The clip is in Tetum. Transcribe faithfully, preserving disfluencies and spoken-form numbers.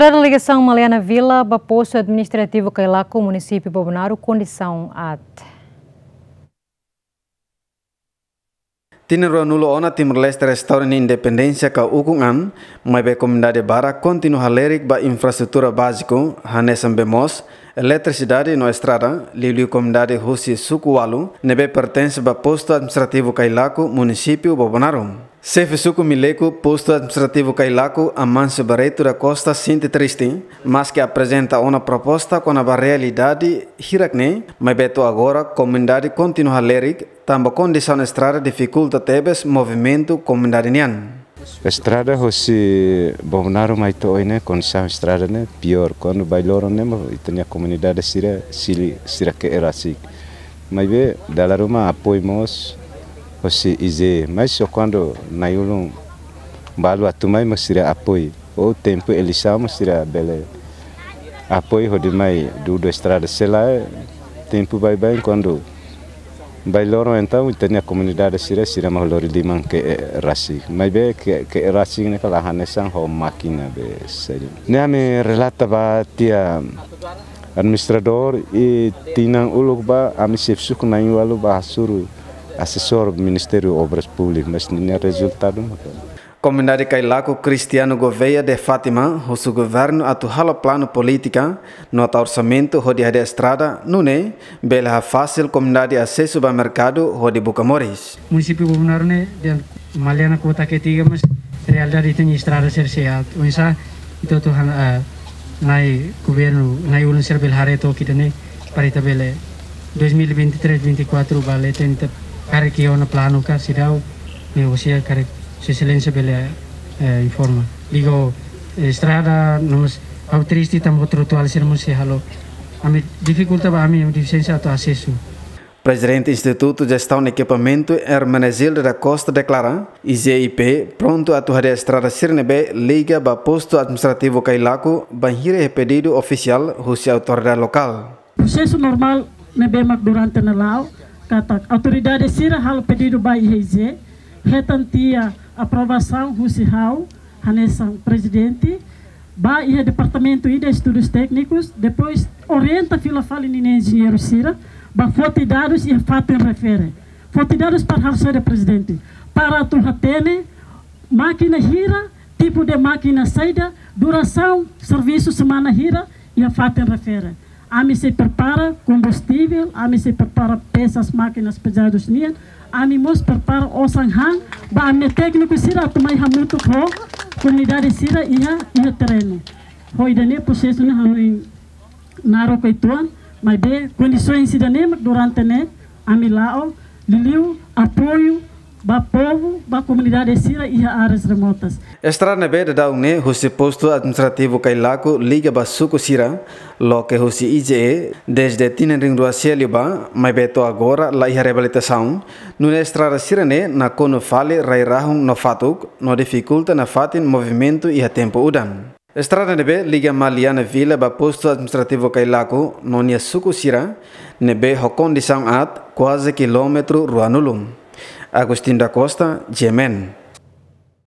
Estrada ligasaun Maliana Vila ba postu administrativu Cailaco, munisípiu Bobonaro, kondisaun aat. Tinan ruanulu ona Timor-Leste restaura nia independénsia ka ukun an, maibé komunidade barak kontinua halerik ba infraestrutura báziku, hanesan bee moos, eletrisidade no estrada, liuliu komunidade husi suku ualu, ne'ebé pertense ba postu administrativu Cailaco, munisípiu Bobonaro. Xefe suku Mileco, postu administrativu Cailaco, Amáncio Barreto da Costa, sente triste, maske aprezenta ona proposta kona-ba realidade hirak-ne'e, maibé to'o agora komunidade kontinua halerik, tanba kondisaun estrada difikulta tebes movimentu komunidade nian. Estrada hosi Bobonaro mai to'o oin ne'e, kondisaun estrada ne'e piór. Kuandu bainhira loron ne'e mak ita-nia komunidade sira, sili-, sira ke'e rasik. Maibé dala ruma apoiu mós hosi I G E, mas só kuandu nai-ulun balu atu mai mak sira apoiu. Ou tempu eleisaun mak sira bele apoiu hodi mai dudu estrada, se lae tempu baibain kuandu bainhira loron entaun ita-nia komunidade sira, sira mak lori liman ke'e rasik. Maibé ke'e, ke'e rasik ne'e ka la hanesan ho mákina be saida. Ne'e ami relata ba tiha administradór i tinan uluk ba ami xefe suku na'in-ualu ba hasoru asesór Ministériu Obras Públikas, mas ninia rezultadu maka. Komunidade Cailaco, Cristiano Gouveia de Fátima, husu governu atu halo planu polítika no tau orsamentu hodi hadi'a estrada, nune'e bele hafasil komunidade asesu ba merkadu hodi buka moris. Munisípiu Bobonaro ne'e dehan Maliana kuota ketiga, mas realidade ita-nia estrada sira sei aat. Oinsá ita atu han, ah, nai governu, nai-ulun sira bele haree took ida-ne'e, para ita bele dois mil e vinte e três, vinte e quatro ba leten ita karik iha ona planu ka seidauk, ne'e orsida karik Sua Exelénsia bele, eh, informa. Liga ho, eh, estrada, no mós ha'u triste tanba trotuar sira mós sei halo. Ami difikulta ba ami, defisiénsia atu asesu. Prezidente Institutu Jestaun Ekipamentu, Hermenegilda da Costa, deklara, I G I P prontu atu hadi'a estrada sira ne'ebé liga ba postu administrativu Cailaco, bainhira iha pedidu ofisiál husi autoridade lokál. Prosesu normál ne'ebé mak durante ne'e la'o, katak autoridade sira halo pedidu ba iha I G E, hetan tiha aprovasaun husi ha'u, hanesan prezidente, ba iha departamentu ida estudus téknikus, depois orienta fila fali ninia enjeñeiru sira ba foti dadus iha fatin refere. Foti dadus para halo saida, prezidente? Para atu hatene mákina hira, tipu de mákina saida, durasaun servisu semana hira, iha fatin refere. Ami sei prepara kombustivel, ami sei prepara pesas, mákinas pezadus nian, ami mós prepara osan han ba ami-nia tékniku sira atu mai hamutuk ho komunidade sira iha, iha terrenu. Ho ida-ne'e prosesu ne'e hanoin naruk uitoan, maibé kondisaun sira-ne'e mak durante ne'e ami la'o, liuliu apoiu ba povu, ba komunidade sira iha áreas remotas. Estrada ne'ebé daudaun ne'e husi postu administrativu Cailaco liga ba suku sira, loke husi I G E, dezde tinan rihun rua sia liubá, maibé to'o agora la iha reabilitasaun, nune'e estrada sira-ne'e nakonu fali rai-rahun no fatuk, no difikulta nafatin movimentu iha tempu udan. Estrada ne'ebé liga Maliana Vila ba postu administrativu Cailaco no nia suku sira, ne'ebé ho kondisaun aat, kuaze kilómetru ruanulu. Agostinho da Costa, G M N.